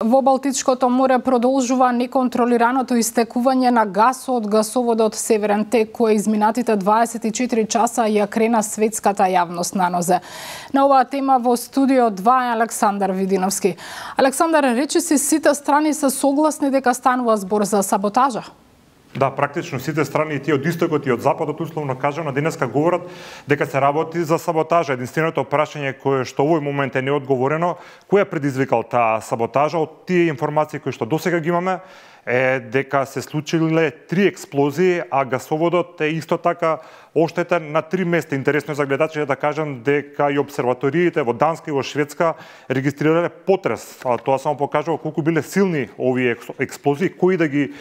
Во Балтичкото море продолжува неконтролираното истекување на гас од гасоводот Северен тек, кој изминатите 24 часа ја крена светската јавност на нозе. На оваа тема во студио 2 е Александар Видиновски. Александар, речи си, сите страни се согласни дека станува збор за саботажа? Да, практично сите страни, и тие од истокот и од западот, условно кажано, денеска говорат дека се работи за саботажа. Единственото прашање кое што овој момент е неодговорено, кој е предизвикал таа саботажа? Од тие информации кои што досега ги имаме е дека се случиле 3 експлозии, а гасоводот е исто така оштетен на 3 места. Интересно е за гледачите да кажам дека и обсерваториите во Данска и во Шведска регистрирале потрес. Тоа само покажува колку биле силни овие експлозии, кој да ги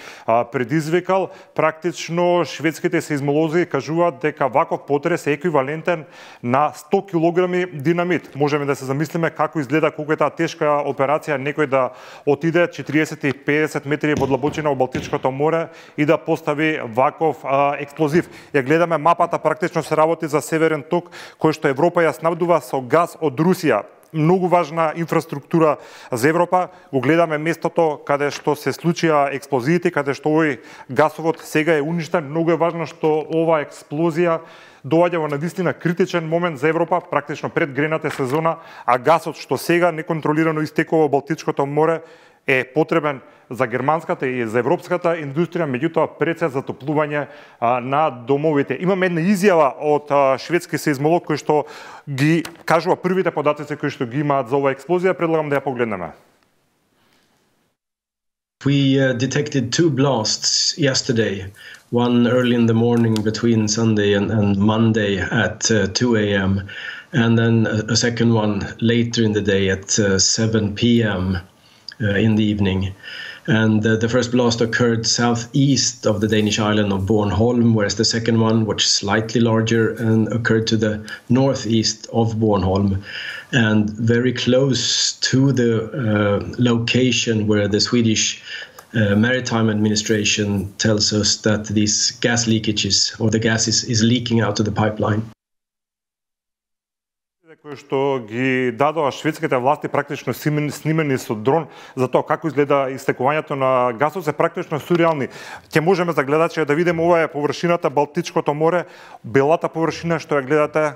предизвикал. Практично шведските сеизмолози кажуваат дека ваков потрес е еквивалентен на 100 килограми динамит. Можеме да се замислиме како изгледа, колку е таа тешка операција некој да отиде 40 и 50 метри во длабочина во Балтичкото море и да постави ваков експлозив. Ја гледаме мапата, практично се работи за Северен ток, кој што Европа ја снабдува со газ од Русија. Многу важна инфраструктура за Европа. Го гледаме местото каде што се случија експлозиите, каде што овој гасовод сега е уништен. Многу е важно што ова експлозија доаѓа во навистина критичен момент за Европа, практично пред грената сезона, а гасот што сега неконтролирано истекува во Балтичкото море е потребен за германската и за европската индустрија, меѓутоа пред се затоплување на домовите. Имаме една изјава од шведски сеизмолог кој што ги кажува првите податоци кои што ги имаат за оваа експлозија, предлагам да ја погледнеме. We detected 2 blasts yesterday, one early in the morning between Sunday and Monday at 2 a.m. and then a second one later in the day at 7 p.m. In the evening. And the first blast occurred southeast of the Danish island of Bornholm, whereas the second one, which is slightly larger, and occurred to the northeast of Bornholm and very close to the location where the Swedish Maritime Administration tells us that these gas leakages, or the gas is leaking out of the pipeline. Кои што ги дадоа шведските власти практично снимени со дрон за тоа како изгледа истекувањето на гасот, се практично сурреални. Ќе можеме за гледачи да видиме, ова е површината Балтичкото море, белата површина што ја гледате,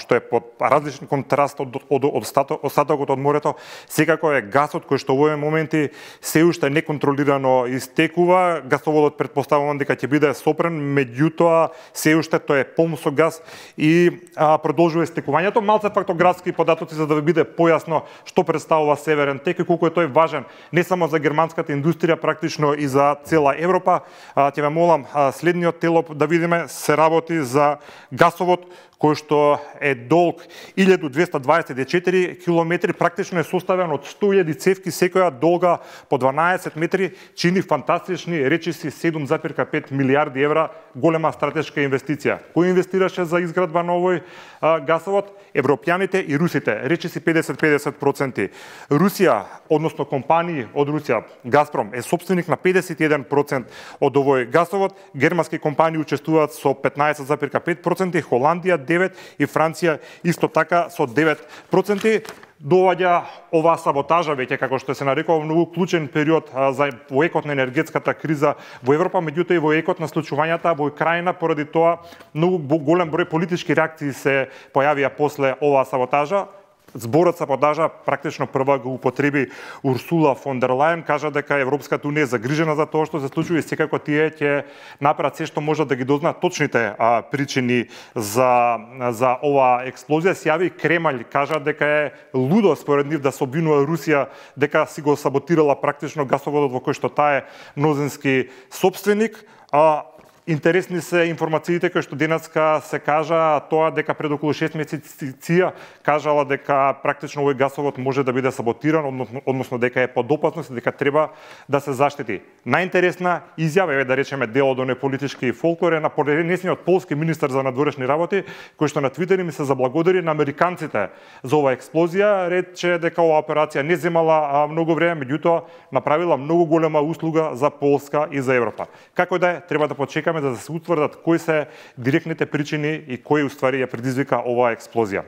што е под различен контраст од остатокот од морето, секако е гасот кој што во овој моменти се уште неконтролирано истекува. Гасоводот претпоставувам дека ќе биде сопрен, меѓутоа се уште тој е полн со гас и продолжува истекувањето. Малце фактографски податоци за да ви биде појасно што представува Северен тек и колку е тој важен не само за германската индустрија, практично и за цела Европа. Ќе ве молам следниот телоп да видиме. Се работи за гасовод кој што е долг 1224 километри, практично е составен од 100.000 цевки, секоја долга по 12 метри, чини фантастични речиси 7,5 милиарди евра, голема стратешка инвестиција. Кој инвестираше за изградба на овој гасовод? Европјаните и русите, речиси 50-50%. Русија, односно компании од Русија, Газпром, е собственик на 51% од овој гасовод, германски компании учествуваат со 15,5%, Холандија 9% и Франција исто така со 9%. Доаѓа оваа саботажа веќе, како што се нарекува, многу клучен период во екот на енергетската криза во Европа, меѓутоа и во екот на случувањата во Украина, поради тоа многу голем број политички реакции се појавија после оваа саботажа. Зборот саботажа практично прва го употреби Урсула фон дер Лајен, кажа дека Европската унија е загрижена за тоа што се случува и секако тие ќе направат се што можат да ги дознаат точните причини за оваа експлозија. Се јави Кремљ, кажа дека е лудо според нив да се обвинува Русија дека си го саботирала практично гасоводот во кој што таа е мнозински собственик. Интересни се информациите кои што денеска се кажа тоа дека пред околу 6 месеци ЦИА кажала дека практично овој гасовод може да биде саботиран, односно дека е под опасност и дека треба да се заштити. Најинтересна изјава е, да речеме, дел од оној политички фолклор е на понесениот полски министер за надворешни работи, кој што на Твитер им се заблагодари на американците за оваа експлозија, рече дека оваа операција не земала многу време, меѓутоа направила многу голема услуга за Полска и за Европа. Како да е, треба да почекаме да се утврдат кои се директните причини и кој уствари ја предизвика оваа експлозија.